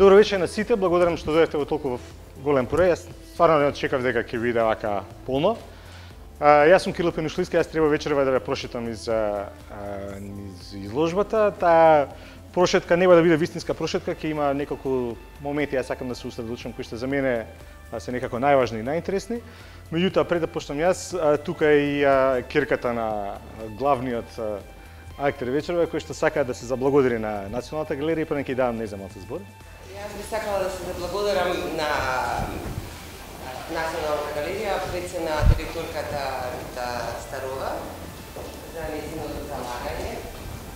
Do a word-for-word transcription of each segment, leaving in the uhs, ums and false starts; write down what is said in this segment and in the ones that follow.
Добро вечер на сите, благодарам што дојдовте во толку голем број. Јас стварно не очекав дека ќе биде вака полно. А, јас сум Кирил Пенушлиски, јас треба вечерва да ве прошетам из, а, из изложбата. Таа прошетка нема да биде вистинска прошетка, ќе има неколку моменти јас сакам да се усредочам кои што за мене се некако најважни и најинтересни. Меѓутоа, пред да почнам јас, тука е и керката на главниот актер вечерва, кој што сака да се заблагодари на Националната галерија, па нека ќе давам неза малку збор. Јас би сакала да се заблагодарам на Националната галерија, пред се на директорката Рита Старова за нејзиното залагање,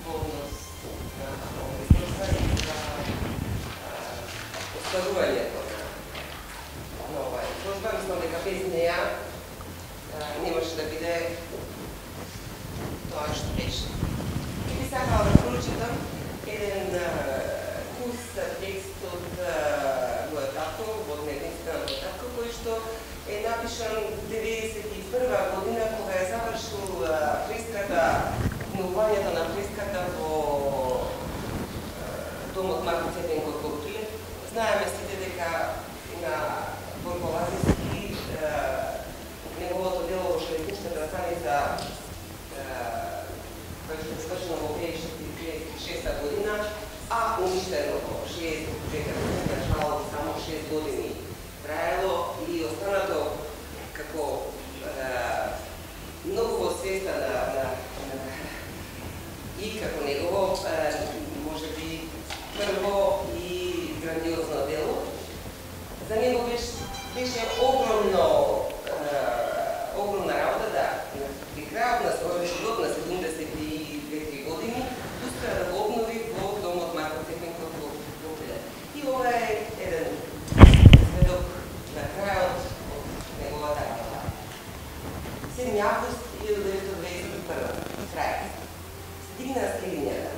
полност на ресурса и за остварувањето на ова изложба. Мислам дека без неја немаше да биде тоа што беше. И би сакала да прочитам еден кус текст од Војататко, од дневницата на Војататко, кој што е напишан деветдесет и прва година, кога е завршил фреската, обновувањето на фреската во домот Марко Цетенко во Крилев. Знаеме сите дека на Борко Лазински неговото дело во железничката станица кој што е свршено во две тисечи и шеста година, а уништено во шеесет и трета година, жал само шест години траело и останато како многу во свеста на, на, на и како негово може би прво и грандиозно дело. За него беше, беше огромно огромна работа да при крајот на својот живот на седумдесет и две години успеа да го обнови во домот Марко Цетенко во Крилев. И ова е еден сведок на крајот од неговата работа. седми август илјадесетстотини дваесет и прва. Крај. Се дигна скелињата,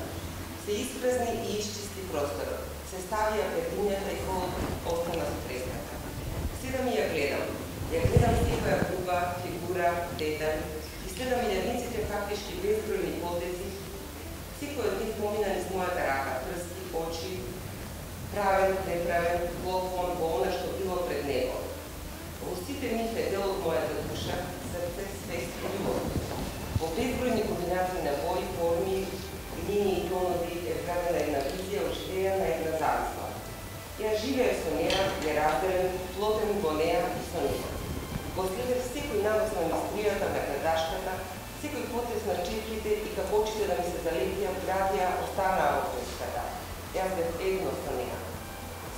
се испразни и исчисти просторот, се ставија петињата и холот остана со фреската. Седам и ја гледам. Ја гледам секоја губа, фигура, детај, и следам илјадниците фактички безбројни потези. Секој од нив помина низ мојата рака, прсти, очи, правен, неправен, голфон, во она што било пред него. Во сите нив е дел од мојата душа, срце, свест и љубов. Во безбројни комбинации на бои, форми, линии и тонови е вградена една визија, оживеена една замисла. Ја живеев со неа, ја разделен, плотен во неа и со неа. Го следев секој навес на мистријата на градашката, секој потез на четките и како очите да ми се залепија, градија, останаа во фреската. Јас бев едно со неа.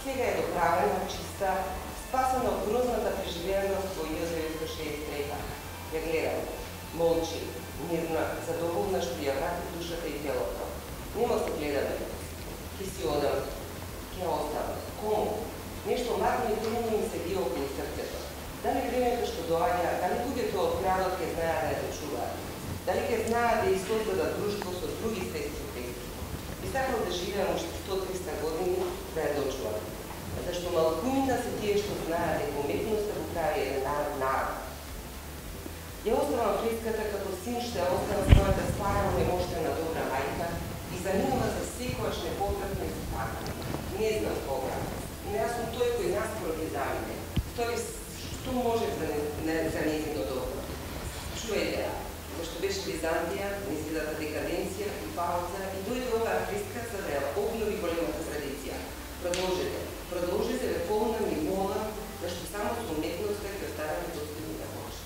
Сега е доправена, чиста, спасена од грозната преживеаност во илјадесет деветстотини шеесет и трета. Ја гледам, молчи, мирна, задоволна што ја врати душата и телото. Нема се гледаме. Ке си одам, ке оставам. Кому? Нешто младно и темно ми се бие околу срцето. Дали времето што доаѓа, дали луѓето од градот ќе знаат да ја дочуваат? Дали ќе знаат да ја создадат друштво со други свесни текси? Би сакал да живеам уште сто до триста години да ја дочувам. Зашто малкумина се тие што знаат дека уметноста го прави еден народ народ. Ја оставам фреската како син што ја остава својата стара унемоштена добра мајка и заминува за секојаш непотратно и спакано. Не знам кога, но јас сум тој кој наскоро ги замине. Тој што може за, не, за нејзино добро. Чуете ја, зашто беше Византија, низидата декаденција и пауза и дојде оваа фреска за да ја обнови големата традиција. Продолжете, продолжете ве полна ми мола, зашто само со уметноста ќе оставаме достојни да може.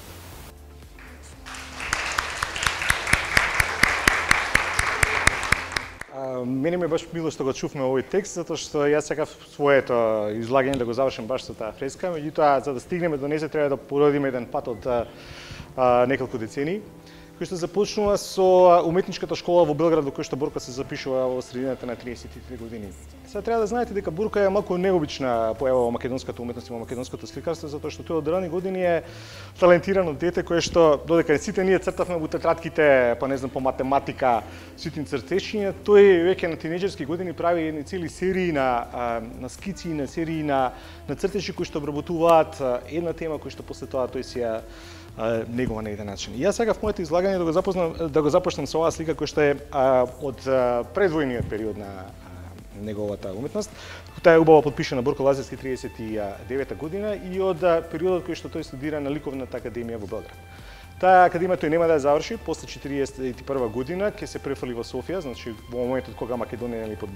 Мене ми е баш мило што го чувме овој текст, затоа што јас сакав своето излагање да го завршам баш со таа фреска, меѓутоа за да стигнеме до нејзе треба да породиме еден пат од а, неколку децении, кој што започнува со уметничката школа во Белград, во кој што Борка се запишува во средината на триесет и три години. Сега треба да знаете дека Борка е малку необична појава во македонската уметност и во македонското сликарство, затоа што тој од рани години е талентирано дете кое што додека сите ние цртавме во тетрадките, па не знам по математика, ситни цртешиња, тој веќе на тинеџерски години прави едни цели серии на на скици, на серии на на цртеши кои што обработуваат една тема кој што после тоа тој си ја негова на еден начин. И јас сакав моето излагање да го запознам да го започнам со оваа слика која што е а, од а, предвојниот период на неговата уметност. Таа е убаво подпишана Борко Лазарски триесет и девета година и од периодот кој што тој студира на Ликовната академија во Белград. Таа академија тој нема да ја заврши, после четириесет и прва година ќе се префали во Софија, значи во моментот кога Македонија е под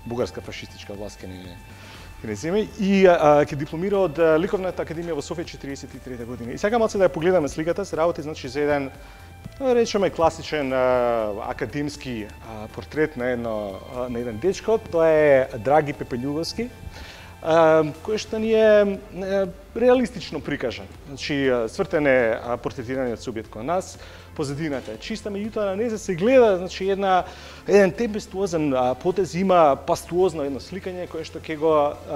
бугарска фашистичка власт ќе не не земе и а, ќе дипломира од Ликовната академија во Софија четириесет и трета година. И сега малце да ја погледаме сликата, се работи значи за еден речеме класичен а, академски а, портрет на едно а, на еден дечко, тоа е Драги Пепелјуговски, а, кој што ни е а, реалистично прикажан. Значи цртен е портретираниот субјект кон нас, позадината е чиста, меѓутоа на незе се гледа значи една еден темпестуозен потез, има пастуозно едно сликање кое што ќе го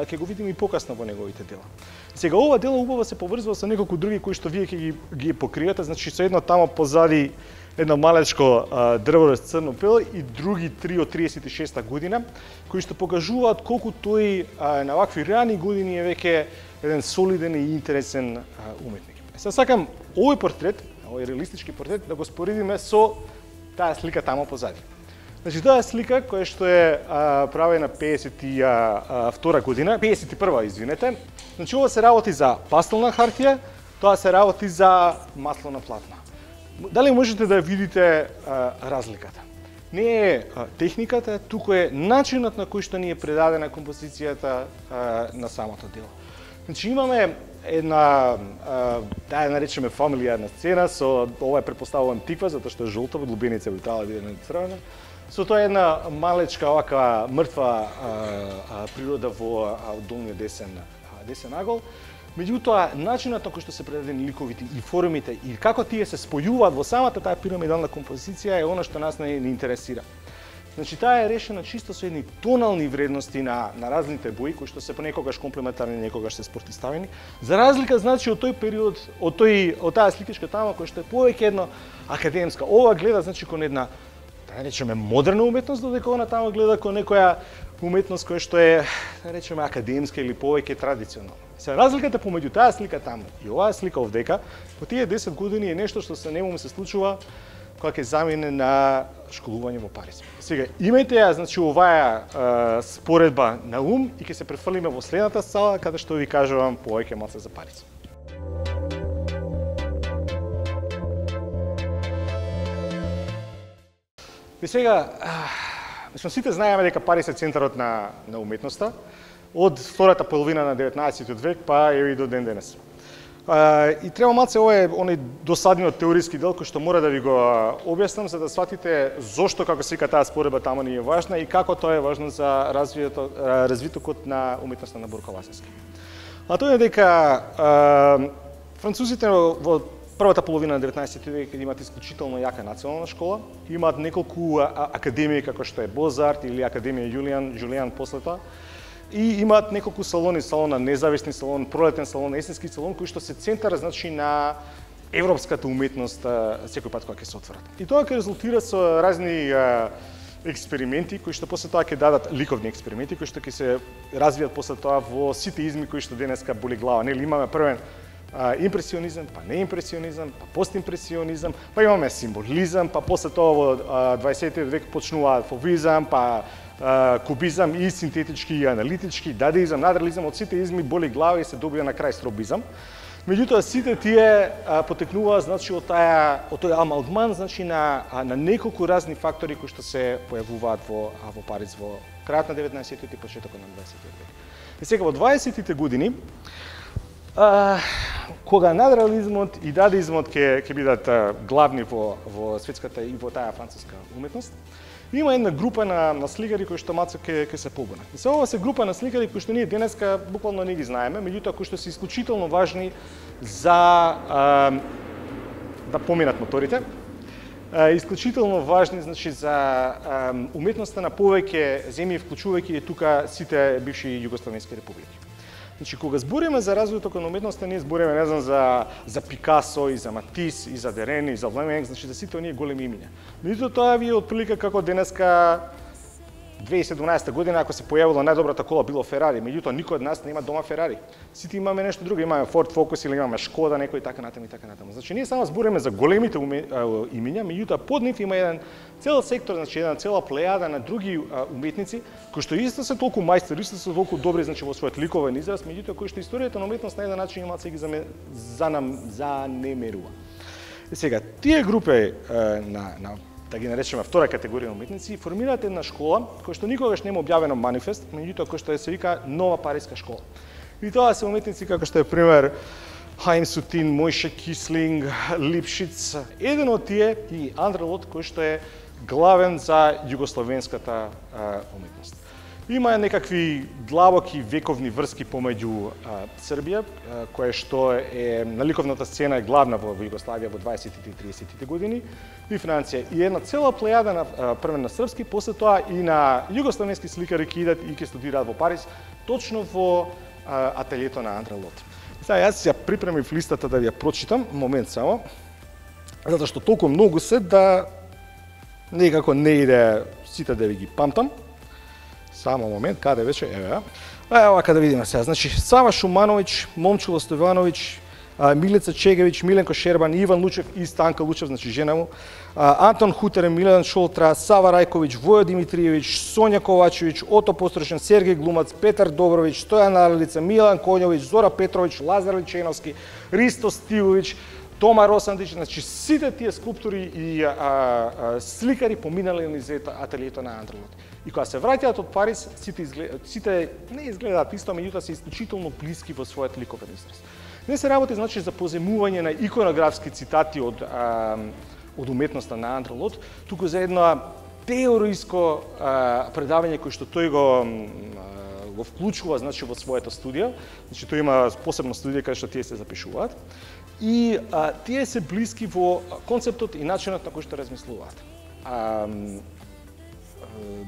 ќе го видиме и покасно во неговите дела. Сега ова дело убаво се поврзува со неколку други кои што вие ќе ги ги покриете, значи со едно тамо позади едно малечко дрво с црно пел и други три од триесет и шеста година кои што покажуваат колку тој а, на вакви рани години е веќе еден солиден и интересен а, уметник. Сега сакам овој портрет, овој реалистички портрет да го споредиме со таа слика тамо позади. Значи таа слика која што е а, правена пеесет и втора година, пеесет и прва, извинете. Значи ова се работи за пастелна хартија, тоа се работи за масло на платна. Дали можете да видите а, разликата? Не е а, техниката, туку е начинот на кој што ни е предадена композицијата а, на самото дело. Значи имаме една, да ја наречеме фамилијарна сцена, со ова е претпоставувам тиква, затоа што е жолта, во длубиница би требало да биде црвена. Со тоа една малечка овака мртва а, а, природа во а, долниот десен, а, десен агол. Меѓутоа, начинот на кој што се предадени ликовите и формите и како тие се спојуваат во самата таа пирамидална композиција е она што нас не, не интересира. Значи таа е решена чисто со едни тонални вредности на на разните бои кои што се понекогаш комплементарни, некогаш се спротивставени. За разлика значи од тој период, од тој од таа сликичка тама кој што е повеќе едно академска. Ова гледа значи кон една да речеме модерна уметност, додека она тама гледа кон некоја уметност која што е да речеме академска или повеќе традиционална. Се разликата помеѓу таа слика таму и оваа слика овдека, по тие десет години е нешто што се нему се случува кога ќе замине на школување во Париз. Сега, имајте ја, значи, оваа е, споредба на ум и ќе се префрлиме во следната сала, каде што ви кажувам повеќе малце за Париз. И сега, мислам, сите знаеме дека Париз е центарот на, на уметноста, од втората половина на деветнаесеттиот век, па еви до ден денес. Uh, и треба малце овој оној досадниот теориски дел кој што мора да ви го објаснам за да сватите зошто како се вика таа споредба таму ни е важна и како тоа е важно за развитокот, развитокот на уметноста на Борко Лазарски. А тоа е дека uh, французите во првата половина на деветнаесеттиот век имаат исклучително јака национална школа, имаат неколку академии како што е Бозарт или Академија Јулиан, Јулиан после тоа. И имаат неколку салони, салон на независни салон, пролетен салон, есенски салон, кои што се центар значи на европската уметност секој пат кога ќе се отворат. И тоа ќе резултира со разни а, експерименти кои што после тоа ќе дадат ликовни експерименти кои што ќе се развијат после тоа во сите изми кои што денеска боли глава. Нели имаме првен а, импресионизам, па неимпресионизам, па постимпресионизам, па имаме символизам, па после тоа во дваесеттиот век почнуваат фовизам, па кубизам и синтетички и аналитички, дадеизам, надреализам, од сите изми боли глава и се добија на крај стробизам. Меѓутоа сите тие а, потекнуваат значи од таа од тој амалгман значи на а, на неколку разни фактори кои што се појавуваат во а, во Париз во крајот на деветнаесеттиот и почетокот на дваесеттиот век. И сега во дваесеттите години а, кога надреализмот и дадеизмот ќе ќе бидат а, главни во во светската и во таа француска уметност, има една група на, на сликари кои што малце ќе ќе се побунат. И се ова се група на сликари кои што ние денеска буквално не ги знаеме, меѓутоа кои што се исклучително важни за а, да поминат моторите, а, исклучително важни значи за а, уметноста на повеќе земји, вклучувајќи и тука сите бивши југословенски републики. Значи, кога збориме за развитокот на уметноста, ние збориме, не знам, за, за Пикасо, и за Матис, и за Дерен, и за Влеменг, значи за сите оние големи имиња. Меѓутоа, тоа ви е отприлика како денеска две илјади и седумнаесетта година, ако се појавила најдобрата кола, било Ферари, меѓутоа никој од нас нема дома Ферари. Сите имаме нешто друго, имаме Ford Focus или имаме Шкода, некој така натаму и така натаму. Значи ние само збориме за големите имиња, меѓутоа под нив има еден цел сектор, значи една цела плејада на други уметници кои што исто се толку мајстори, исто се толку добри значи во својот ликовен израз, меѓутоа кои што историјата на уметност на еден начин имаат се ги занемерува. И сега тие групи на на да ги наречеме втора категорија уметници, формираат една школа која што никогаш нема објавено манифест, меѓутоа која што се вика Нова Париска школа. И тоа се уметници како што е пример Хаим Сутин, Мојше Кислинг, Липшиц, еден од тие и Андре Лот кој што е главен за југословенската уметност. Има некакви длабоки вековни врски помеѓу Србија, која што е на ликовната сцена е главна во Југославија во дваесеттите и тридесеттите години, и Франција. И една цела плејада на прво на српски, после тоа и на југословенски сликари ќе идат и ќе студираат во Париз, точно во ателието на Андре Лот. Сега јас ја припремив листата да ви ја прочитам, момент само, затоа што толку многу се да некако не иде сите да ви ги памтам. Само момент, каде вече? Еве. Ева каде видиме сега. Значи Сава Шумановиќ, Момчило Стојановиќ, Милица Чегевиќ, Миленко Шербан, Иван Лучев и Станка Лучев, значи жена му, Антон Хутерен, Милен Шолтра, Сава Рајковиќ, Војо Димитриевиќ, Сонја Ковачевиќ, Ото Пострашен, Сергеј Глумац, Петар Добровиќ, Стојан Арлица, Милан Коњовиќ, Зора Петровиќ, Лазар Личеновски, Ристо Стивовиќ, Тома Росандич, значи сите тие скулптори и а, а, сликари поминале низ ателието на Андре Лот. И кога се враќаат од Париз, сите, изглед... сите не изгледаат исто, меѓутоа се исклучително блиски во својот ликовен израз. Не се работи значи за поземување на иконографски цитати од а, од уметноста на Андре Лот, туку за едно теоријско а, предавање кој што тој го а, го вклучува значи во своето студио. Значи тој има посебна студија каде што тие се запишуваат. И а, тие се блиски во концептот и начинот на кој што размислуваат. А,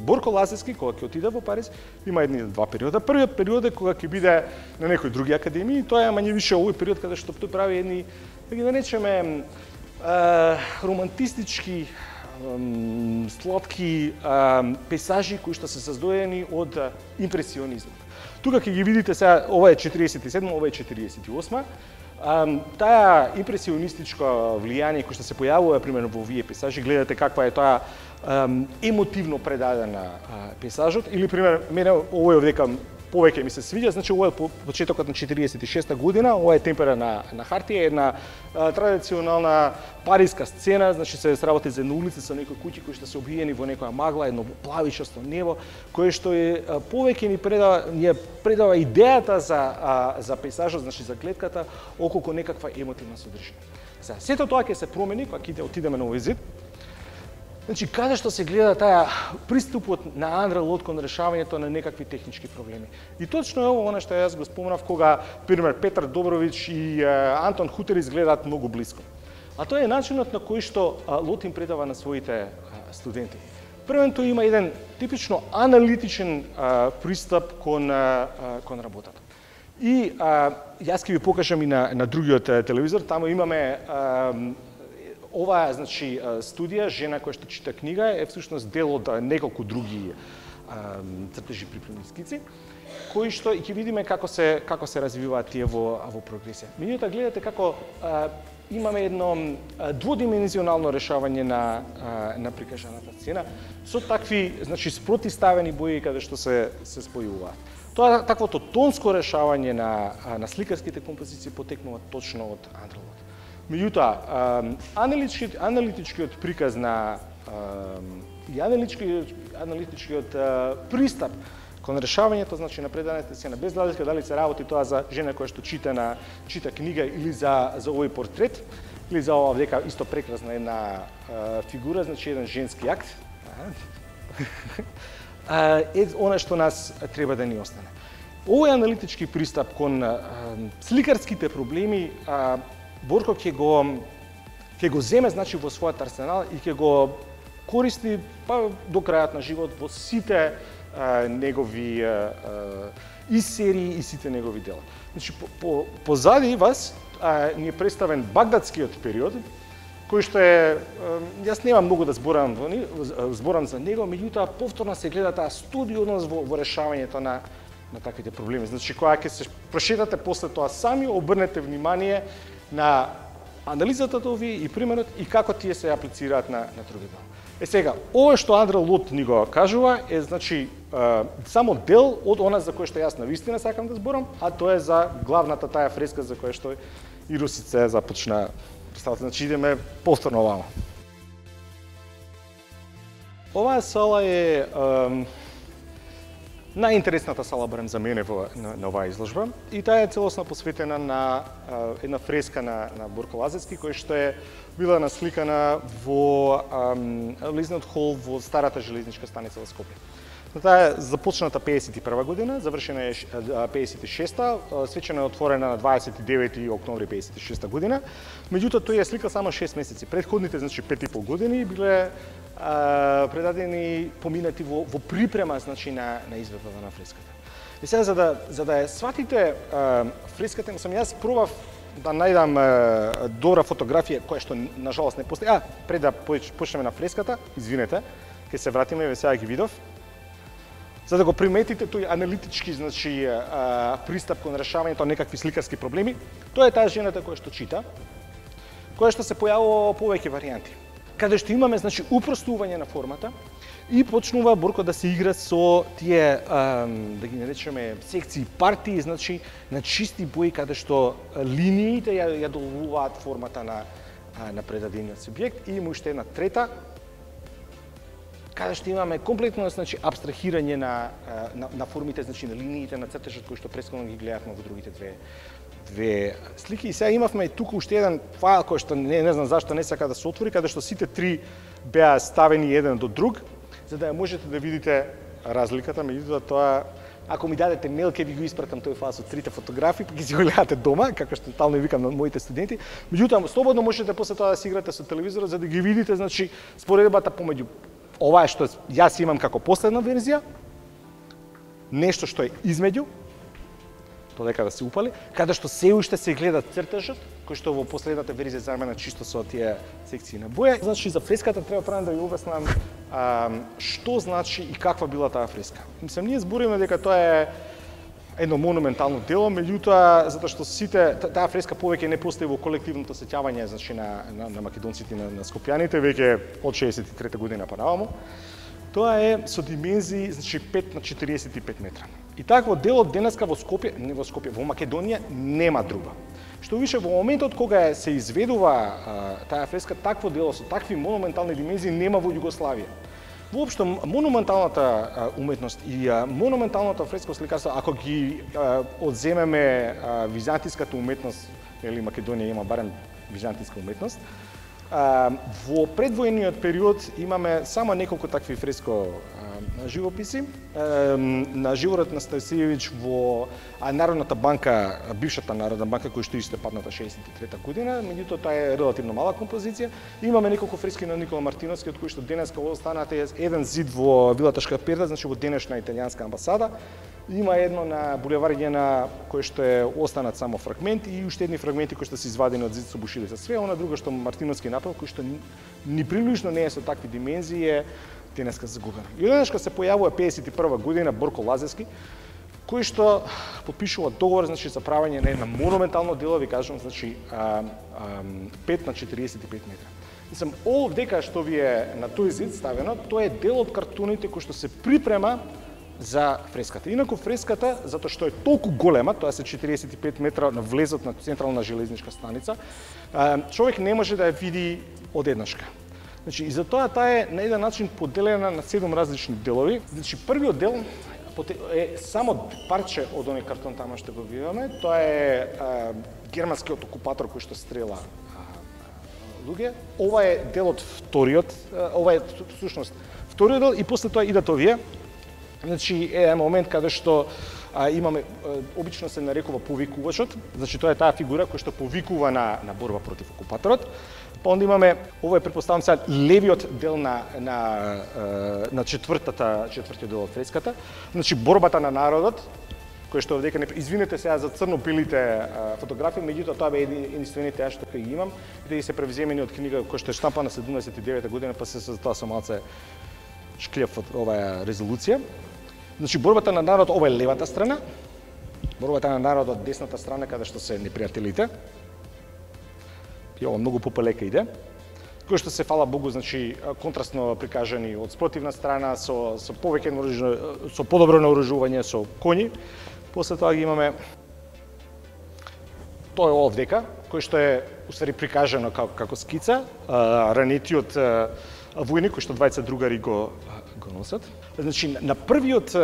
Борко Лазевски, кога ќе отиде во Париз, има едни два периода. Првиот период е кога ќе биде на некои други академии, тоа е мање више овој период каде што тој прави едни, да ги наречеме, романтистички, сладки пейзажи кои што се создадени од импресионизмот. Тука ќе ги видите сега, ова е четириесет и седма, ова е четириесет и осма. Um, таа импресионистичко влијание кој што се појавува примерно во овие пейзажи, гледате каква е тоа um, емотивно предадена uh, пейзажот, или пример мене овој овдека повеќе ми се свиѓа, значи ова е почетокот на четириесет и шеста година, ова е темпера на на хартија, една а, традиционална париска сцена, значи се сработи за една улица со некои куќи кои што се обиени во некоја магла, едно плавичасто небо, кое што е а, повеќе ни предава ни предава идејата за а, за пейзажот, значи за клетката околку некаква емотивна содржина. Сега сето тоа ќе се промени кога ќе отидеме на овој зид. Значи, каде што се гледа таа приступот на Андре Лот кон решавањето на некакви технички проблеми. И точно е ово што јас го спомнав кога, пример, Петар Добровиќ и а, Антон Хутер изгледаат многу блиско. А тоа е начинот на кој што а, Лот им предава на своите а, студенти. Првен тој има еден типично аналитичен а, пристап кон, а, кон работата. И а, јас ќе ви покажам и на, на другиот телевизор, таму имаме а, оваа значи студија, жена која што чита книга, е всушност дел од неколку други а, цртежи приправни скици, кои што и ќе видиме како се како се развиваат тие во во прогресија. Меѓутоа гледате како а, имаме едно а, дводимензионално решавање на а, на прикажаната сцена со такви значи спротивставени бои каде што се се спојуваат. Тоа таквото тонско решавање на на сликарските композиции потекнува точно од Андре Лот. Меѓутоа, аналитичкиот, аналитичкиот приказ на и аналитичкиот, аналитичкиот пристап кон решавањето, значи на преданата сцена, без разлика дали се работи тоа за жена која што чита на чита книга или за за овој портрет, или за ова дека исто прекрасна една а, фигура, значи еден женски акт. Е она што нас треба да ни остане. Овој аналитички пристап кон а, сликарските проблеми а, Борко ќе го ќе го земе значи во својот арсенал и ќе го користи па до крајот на живот во сите а, негови а, и серии и сите негови дела. Значи по, по, позади вас а, ни е представен багдадскиот период, кој што е, јас немам многу да зборам во него, зборам за него, меѓутоа повторно се гледа таа студиозност во, во решавањето на на таквите проблеми. Значи кога ќе се прошетате после тоа сами, обрнете внимание на анализата овие и примерот и како тие се аплицираат на на другите. Е сега, ова што Андре Лот ни го кажува е значи е, само дел од она за кое што јас навистина сакам да зборам, а тоа е за главната таа фреска за која што и Русице започна представата. Значи идеме повторно овамо. Оваа сала е, е најинтересната сала барем за мене во на, на оваа изложба и таа е целосно посветена на а, една фреска на на Борко Лазевски која што е била насликана во Лизнат хол во старата железничка станица во Скопје. Таа е започната пеесет и прва година, завршена е пеесет и шеста, свечено е отворена на дваесет и девети октомври пеесет и шеста година. Меѓутоа тој ја слика само шест месеци. Претходните, значи пет и пол години биле а, предадени поминати во, во припрема значи на на изведбата на фреската. И сега за да за да ја сватите а, фреската, сам јас пробав да најдам а, добра фотографија која што на жалост не постои. А, пред да почнеме на фреската, извинете, ќе се вратиме, еве сега ги видов. За да го приметите тој аналитички, значи, а, пристап кон решавањето на некакви сликарски проблеми, тоа е таа жената која што чита, која што се појавува повеќе варијанти. Каде што имаме, значи, упростување на формата и почнува Борко да се игра со тие, а, да ги наречеме, секции, партии, значи, на чисти бои, каде што линиите ја, ја доловуваат формата на, на предадениот субјект. И има уште една трета, каде што имаме комплетно, значи, абстрахирање на, на, на формите, значи, на линиите, на цртежот кои што пресконо ги гледавме во другите две, две слики. И сега имавме тука уште еден файл кој што не, не знам зашто не сака да се отвори, каде што сите три беа ставени еден до друг, за да ја можете да видите разликата, меѓутоа тоа, ако ми дадете мејл, ќе ви го испратам тој файл со трите фотографии, па ќе си го гледате дома, како што тално викам на моите студенти. Меѓутоа, слободно можете после тоа да си играте со телевизорот за да ги видите, значи, споредбата помеѓу ова е што јас имам како последна верзија, нешто што е измеѓу, додека да се упали, каде што се уште се гледа цртежот, кој што во последната верзија замена чисто со тие секции на боја. Значи, за фреската треба прво да ја обяснам а, што значи и каква била таа фреска. Мислам, ние збориме дека тоа е едно монументално дело, меѓутоа, затоа што сите, таа фреска повеќе не постои во колективното сеќавање, значи, на, на, на македонците, на, на скопјаните, веќе од шеесет и трета година па наваму. Тоа е со димензии, значи, пет на четириесет и пет метра. И такво дело денеска во Скопје, не во Скопје, во Македонија нема друга. Што више, во моментот кога се изведува а, таа фреска, такво дело со такви монументални димензии нема во Југославија. Воопшто, монументалната уметност и монументалната фреско сликарство, ако ги а, одземеме а, византиската уметност, или Македонија има барем византиска уметност, а, во предвојниот период имаме само неколку такви фреско а, живописи. А, на животот на Стајсиевиќ во а, Народната банка, бившата Народна банка, која што исто падната шеесет и трета година, меѓутоа таа е релативно мала композиција. Имаме неколку фрески на Никола Мартиновски, од кои што денеска останат еден зид во Вилата Шкаперда, значи во денешна италијанска амбасада. Има едно на булевар Јена кој што е останат само фрагменти и уште едни фрагменти кои што се извадени од зид со бушилица. Све она друго што Мартиновски направил, кој што ни, ни прилично не е со такви димензии, е денеска загубено. И одеднашка се појавува пеесет и прва година Борко Лазевски, кој што потпишува договор, значи, за правење на една монументално дело, ви кажам, значи, а, а, пет на четириесет и пет метра. Мислам, овдека што ви е на тој зид ставено, тоа е дел од картуните кој што се припрема за фреската. Инаку фреската, затоа што е толку голема, тоа се четириесет и пет метра на влезот на централна железничка станица, човек не може да ја види одеднашка. Значи, и затоа таа е на еден начин поделена на седум различни делови. Значи, првиот дел е само парче од оној картон тама што го видиме. Тоа е а, германскиот окупатор кој што стрела а, луѓе. Ова е дел од вториот, а, ова е всушност вториот дел и после тоа идат овие. Значи, е момент каде што а, имаме, а, обично се нарекува повикувачот, значи тоа е таа фигура која што повикува на, на борба против окупаторот. Па онда имаме, ова е претпоставам сега левиот дел на, на, на четвртата, четвртиот дел од фреската, значи борбата на народот, кој што овдека не извинете сега за црно-белите фотографии, меѓутоа тоа бе единствените ја што ги имам и да се превземени од книга која што е штампана седумдесет и девета година, па се за тоа со малце шклев од оваа резолуција. Значи борбата на народ, ова е левата страна. Борбата на народот, десната страна каде што се непријателите. И ова многу попелека иде. Кој што се фала Богу, значи контрастно прикажани од спротивна страна со со повеќе наоружување, со подобро наоружување, со коњи. После тоа ги имаме тоа е овдека, кој што е уствари прикажано како како скица, ранетиот војник кој што двајца другари го го носат. Значи на првиот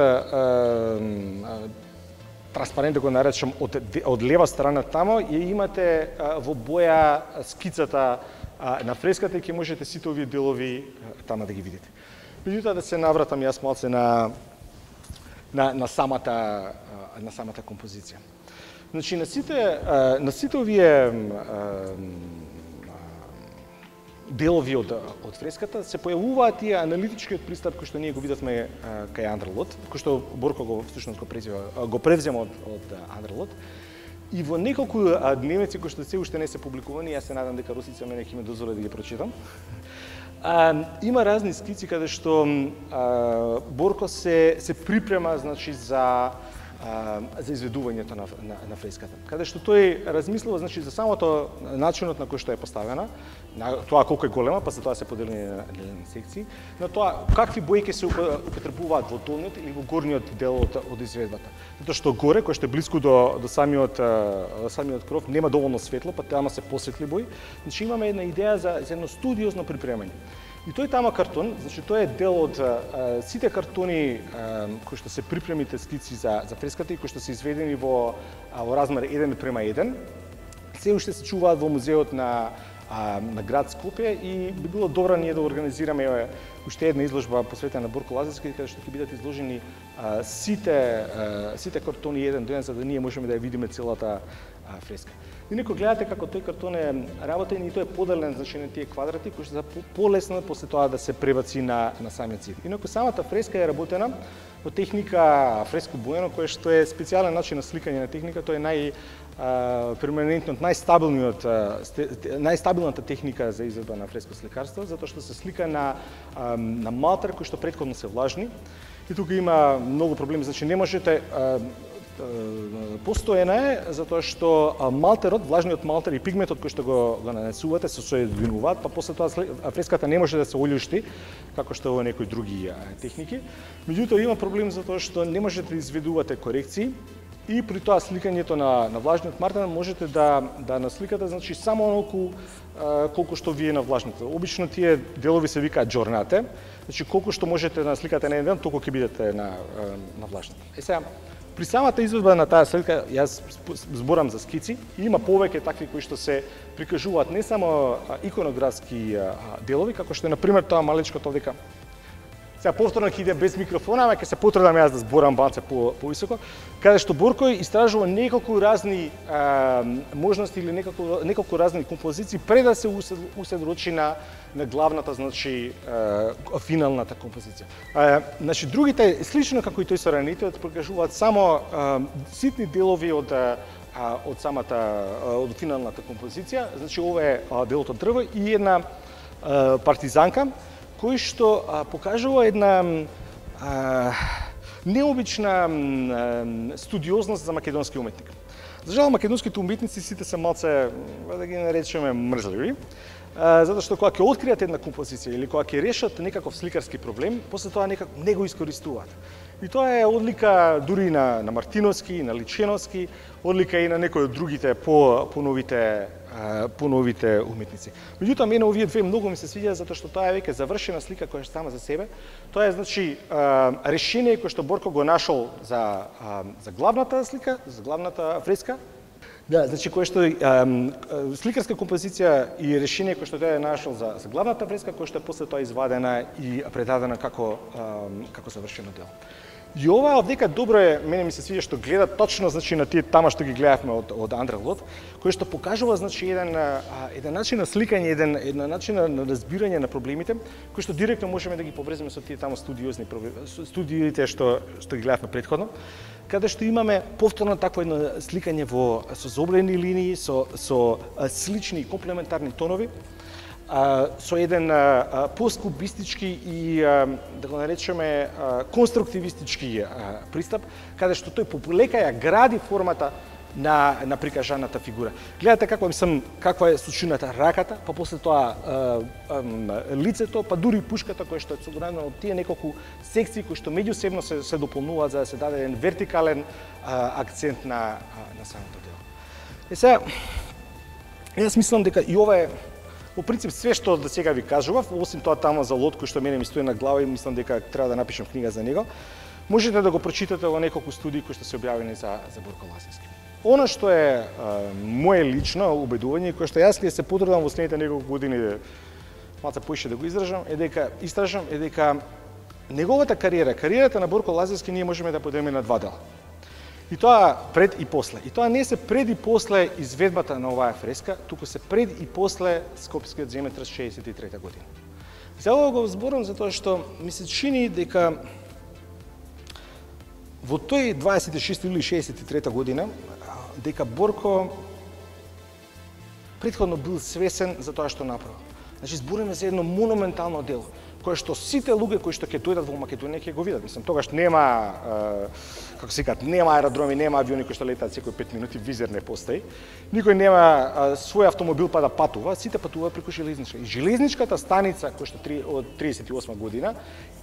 транспарент, да го наречам, од, од лева страна тамо, ја имате а, во боја скицата а, на фреската и ќе можете сите овие делови а, тама да ги видите. Меѓутоа да се навратам јас малце на на на самата а, на самата композиција. Значи на сите а, на сите овие а, делови од, од фреската се појавуваат тие аналитичкиот пристап кој што ние го видовме кај Андре Лот, кој што Борко го всушност го превзема, го превзема од, од Андре Лот. И во неколку дневници кои што се уште не се публикувани, јас се надам дека Росица мене ќе ме дозволи да ги прочитам. А, има разни скици каде што а, Борко се се припрема, значи, за за изведувањето на, на, на фреската. Каде што тој размислува, значи, за самото начинот на кој што е поставена, на тоа колку е голема, па за тоа се поделени на, на секции, на тоа какви бои ќе се употребуваат во долниот или во горниот дел од, од изведбата. Затоа што горе, кој што е блиску до, до самиот, до самиот кров, нема доволно светло, па тама се посветли бои. Значи имаме една идеја за, за едно студиозно припремање. И тој тама картон, значи тој е дел од а, сите картони а, кои што се припремите скици за за фреската и кои што се изведени во а, во размер еден према еден, се уште се чуваат во музеот на а, на град Скопје и би било добро ние да организираме уште една изложба посветена на Борко Лазарски, каде што ќе бидат изложени а, сите а, сите картони еден до еден, за да ние можеме да ја видиме целата а, фреска. И некој гледате како тој картон е работен и тој е поделен, значи, на тие квадрати кои што се полесно после тоа да се пребаци на на самиот цид. Инаку самата фреска е работена во техника фреско боено, кој што е специјален начин на сликање на техника, тоа е нај перманентниот, најстабилниот, најстабилната техника за изvedба на фреско сликарство, затоа што се слика на на малтер кои што претходно се влажни. И тука има многу проблеми, значи не можете постојана е затоа што малтерот, влажниот малтер и пигментот кој што го, го нанесувате се соединуваат, па после тоа фреската не може да се олјушти како што во некои други техники. Меѓутоа има проблем затоа што не можете да изведувате корекции и при тоа сликањето на на влажниот малтер можете да да насликате, значи, само онолку колку што вие навлажните. Обично тие делови се викаат џорнате, значи колку што можете да насликате на еден ден, толку ќе бидете на на влажните. Е сега при самата изведба на таа слика, јас зборам за скици, и има повеќе такви кои што се прикажуваат не само иконографски делови, како што е, например, тоа малечкото овдека. Сега повторно ќе иде без микрофона, ама ќе се потрудам јас да зборам малце по повисоко, каде што Борко истражува неколку разни а, можности или неколку неколку разни композиции пред да се усредрочи на на главната, значи, а, финалната композиција. А, значи другите слично како и тој со ранетиот прикажуваат само а, ситни делови од а, од самата од финалната композиција. Значи ова е делот од дрво и една а, партизанка кој што а, покажува една а, необична а, студиозност за македонски уметник. За жал, македонските уметници сите се малце, да ги наречеме, мрзливи, а, затоа што кога ќе откријат една композиција или кога ќе решат некаков сликарски проблем, после тоа некако не го искористуваат. И тоа е одлика дури на, на Мартиновски, на Личеновски, одлика и на некои од другите по, по новите по новите уметници. Меѓутоа, мене овие две многу ми се свиѓа затоа што тоа е веќе завршена слика која сама за себе. Тоа е, значи, решение кое што Борко го нашол за за главната слика, за главната фреска. Да, значи кое што сликарска композиција и решение кое што тој е нашол за за главната фреска, која што е после тоа извадена и предадена како како завршено дело. И ова овдека добро е, мене ми се свиѓа што гледа точно, значи, на тие тама што ги гледавме од од Андре Лот, кој што покажува, значи, еден еден начин на сликање, еден еден начин на разбирање на проблемите, кој што директно можеме да ги поврземе со тие таму студиозни студиите што што ги гледавме претходно. каде што имаме повторно такво едно сликање во со зобрени линии, со со слични и комплементарни тонови, а, со еден а, посткубистички и а, да го наречеме а, конструктивистички а, пристап, каде што тој полека ја гради формата на на прикажаната фигура. Гледате како мислам каква е сочината раката, па после тоа а, а, лицето, па дури пушката која што е собрана од тие неколку секции кои што меѓусебно се се дополнуваат за да се даде еден вертикален а, акцент на а, на самото дело. Е сега јас мислам дека и ова е по принцип све што до сега ви кажував, осим тоа тамо за лот кој што мене ми стои на глава и мислам дека треба да напишам книга за него. Можете да го прочитате во неколку студии кои што се објавени за за Борко Лазарски. Она што е а, моje лично убедување, кој што јас се потрудам во следните неколку години малце поише да го изражам, е дека истражам е дека неговата кариера, кариерата на Борко Лазарски ние можеме да поделиме на два дела. И тоа пред и после. И тоа не се пред и после изведбата на оваа фреска, туку се пред и после Скопскиот земјотрес шеесет и трета година. За ова го зборам затоа што ми се чини дека во тој дваесет и шести јули шеесет и трета година дека Борко претходно бил свесен за тоа што направил. Значи збориме за едно монументално дело, кое што сите луѓе кои што ќе дојдат во Македонија ќе го видат. Мислам, тогаш нема, е, како се кажат, нема аеродроми, нема авиони кои што летаат секои пет минути, визер не постои. Никој нема е, свој автомобил па да патува, сите патуваат преку железничка. И железничката станица која што од триесет и осма година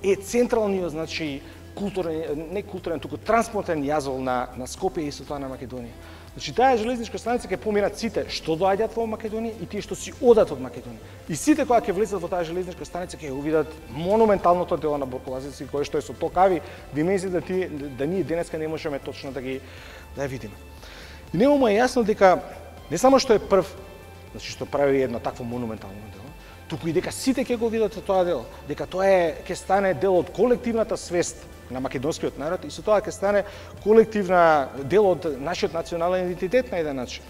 е централниот, значи културен, не културен, туку транспортен јазол на на Скопје и со тоа на Македонија. Значи таа железничка станица ќе поминат сите што доаѓаат во Македонија и тие што си одат од Македонија. И сите кои ќе влезат во таа железничка станица ќе го видат монументалното дело на Борко Лазарски, кое што е со токави димензии да тие да ние денеска не можеме точно да ги да ја видиме. И нему е јасно дека не само што е прв, значи што прави едно такво монументално дело, туку и дека сите ќе го видат тоа дело, дека тоа е ќе стане дел од колективната свест на македонскиот народ и со тоа ќе стане колективна дел од нашиот национален идентитет на еден начин.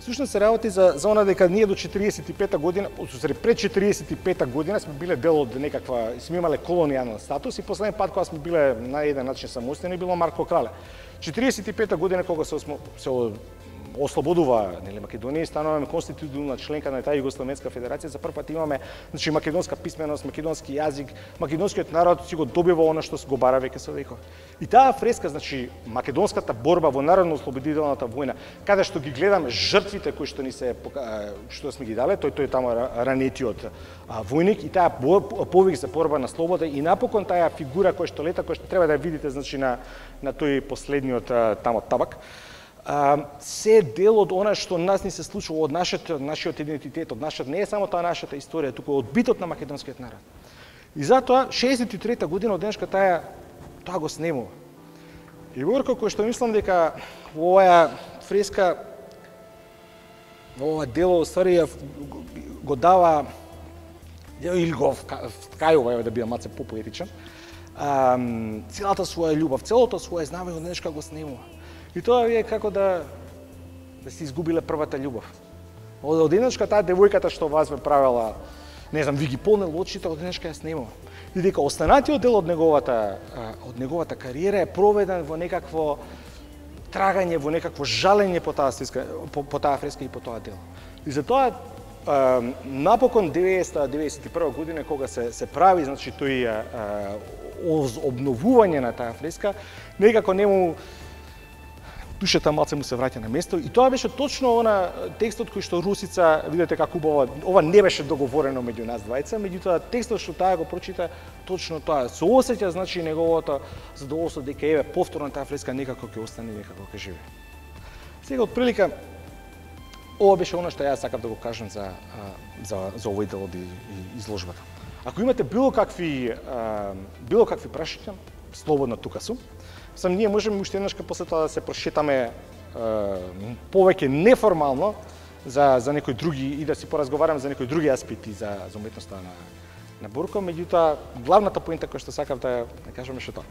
Всушност се работи за за она дека ние до четириесет и пета година, одсури пред четириесет и пета година сме биле дел од некаква, сме имале колонијален статус и последен пат кога сме биле на еден начин самостојни било Марко Крале. четириесет и пета година кога се се ослободува нели Македонија и стануваме конституционална членка на таа Југословенска федерација, за прв пат имаме значи македонска писменост, македонски јазик, македонскиот народ си го добива она што го бара веќе со векови. И таа фреска, значи македонската борба во народно-ослободителната војна, каде што ги гледаме жртвите кои што ни се што сме ги дале, тој тој тамо ранетиот војник и таа повик за борба на слобода и напокон таа фигура која што лета, која што треба да ја видите значи на на тој последниот тамо табак. Uh, се дел од она што нас ни се случува од нашиот, нашиот идентитет, од нашата, не е само таа нашата историја, туку од битот на македонскиот народ. И затоа, шеесет и трета година од денешка таа, тоа го снемува. И Борко, кој што мислам дека во оваа фреска, во ова дело, ствари, го дава, или го вткајува, да бидам маце попоетичен, uh, целата своја љубов, целото своје знаме од денешка го снемува. И тоа е како да да си изгубиле првата љубов. Од денешка таа девојката што вас ме правела, не знам, ви ги полнел очите, од денешка ја снимува. И дека останатиот дел од неговата од неговата кариера е проведен во некакво трагање, во некакво жалење по таа фреска, по, по таа фреска и по тоа дело. И затоа напокон деветесета деветдесет и прва година кога се се прави значи тој обновување на таа фреска, некако нему душата малце му се враќа на место и тоа беше точно она текстот кој што Русица, видите како убаво, ова не беше договорено меѓу нас двајца, меѓутоа текстот што таа го прочита точно тоа. Се осеќа значи неговото задоволство дека еве повторно таа фреска некако ќе остане, некако ќе живее. Сега од прилика ова беше она што јас сакав да го кажам за за за овој дел од изложбата. Ако имате било какви било какви прашања, слободно тука сум. Сам ние можеме уште еднашка после тоа да се прошетаме е, повеќе неформално за за некои други и да си поразговараме за некои други аспекти за за уметноста на на Борко, меѓутоа главната поинта која што сакав да да кажам е што тоа.